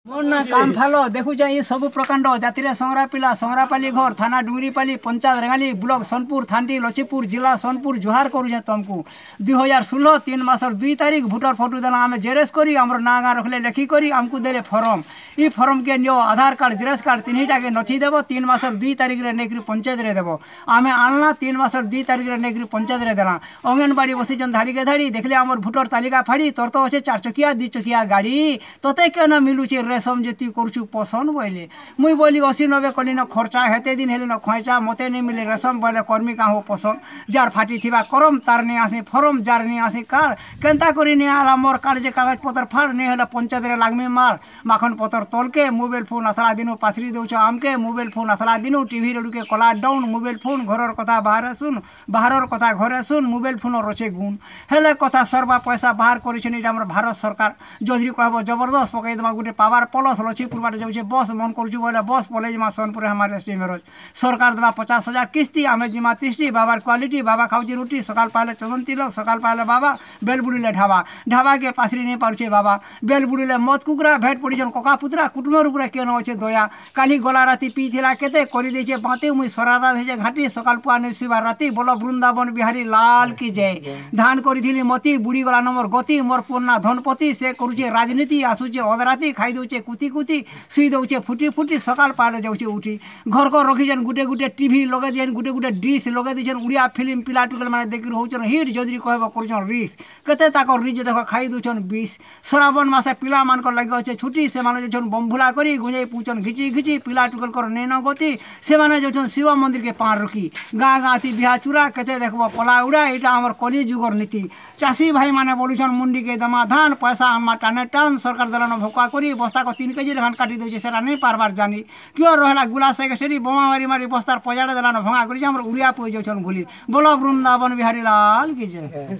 मोर ना काम फालो देखुचे ये सब प्रकांड जातिरे संग्रापिला संग्रापाली घर थाना डुंगरीपाली पंचायत रेंगाली ब्लॉक सोनपुर थानटी लक्ष्मीपुर जिला सोनपुर जुहार करुचे तुमको 2016 3 मासर 2 तारीख भोटर फोटो देला आम जेरेस करी आमर ना गाँ रखले लेखी करी आमको देले फर्म इ फर्म के नियो आधार कार्ड जेरेस कार्ड तीनटा के नथी देव 3 मासर 2 तारीख रे नेकरी पंचायत रे देव आमे आनला 3 मासर 2 तारीख रे नेकरी पंचायत रे देला अंगनबाड़ी बसिछन धाड़ी के धाड़ी देखले आमर भोटर तालिका फाड़ी तोर तो अच्छे 4 चकिया 2 चकिया गाड़ी तोते केन मिलुचे रेशम जेती करछु पसंद बोले मुई बोली 80 90 कली न खर्चा हेते दिन हेले न खैचा मते नहीं मिले रेशम बोले कर्मी का हो पसंद जार फाटी थिबा करम तार ने आसे फरम जार ने आसे कार केनता करी ने आला मोर कार्ड जे कागज पत्र फाड़ ने हेला पंचायत रे लागमी मार माखन पत्र तलके मोबाइल फोन असला दिनु पासरी देउछ आमके मोबाइल फोन असला दिनु टीवी रे के कला डाउन मोबाइल फोन घरर कथा बाहर सुन बाहरर कथा घरे सुन मोबाइल फोन रचे गुण हेले कथा सर्वा पैसा बाहर करिछन एटा हमर भारत सरकार जदि कहबो जबरदस्त पकाई देमा गुटे पावर प्लस लक्ष्मीपुर बाटे जाउछे बस मन करछु बोले बस पले जिमा सोनपुर हमार एसटी मेरोज सरकार देवा 50,000 किस्ती आमे जिमा 30 बाबार क्वालिटी बाबा खाउची रोटी सकाल पाले चंदन तिलक सकाल पाले बाबा बेल बुड़िले ढाबा ढाबा के पासरी नहीं पारुछे बाबा बेल बुड़िले मत कुकरा भेट पड़िछन कका पुतरा कुटुमर उपरे केन अछे दया काली गला राती पीथिला केते करी देछे बाते मुई सरारा हेजे घाटी सकाल पुआ नै शिवा राती बोलो वृंदावन बिहारी लाल की जय धान करिथिली मती बुड़ी गला नंबर गति मोर पुन्ना धनपति से करुचे राजनीति आसुचे अधराती खाई दउचे कुती कुती सुई दउचे फुटी फुटी सकाल पाले जाउचे उठी घर को रखिछन गुटे गुटे टीवी लगे दिछन गुटे गुटे डिश लगे दिछन उड़िया फिल्म पिला टुकल माने देखि होउछन हिट जदि कहब करुछन रिस केते ताकर रिज देख खाई दउछन 20 श्रावण मासे पिला मानकर लागि अछे छुटी से माने जाउछन बमभुला करी गुंजाई पुछन घिची घिची पिला टुकल कर नेन गति से माने जाउछन शिव मंदिर के पार रुकी गाँ गाँ ती बिहा चुरा केते देखब पला उड़ा एटा हमर कली जुगर नीति चाषी भाई माने बोलुछन मुंडी के दमा धान पैसा आमा टाने टान सरकार दलान भोका करी बस्ता को 3 केजी लेखान काटी दउछे सेटा नहीं पारबार जानी प्योर रहला गुला सेक्रेटरी बोमा मारी मारी बस्तार पजाड़े दलान भंगा करी हमर उड़िया पई जाउछन भूली बोलो वृंदावन बिहारी लाल की जय।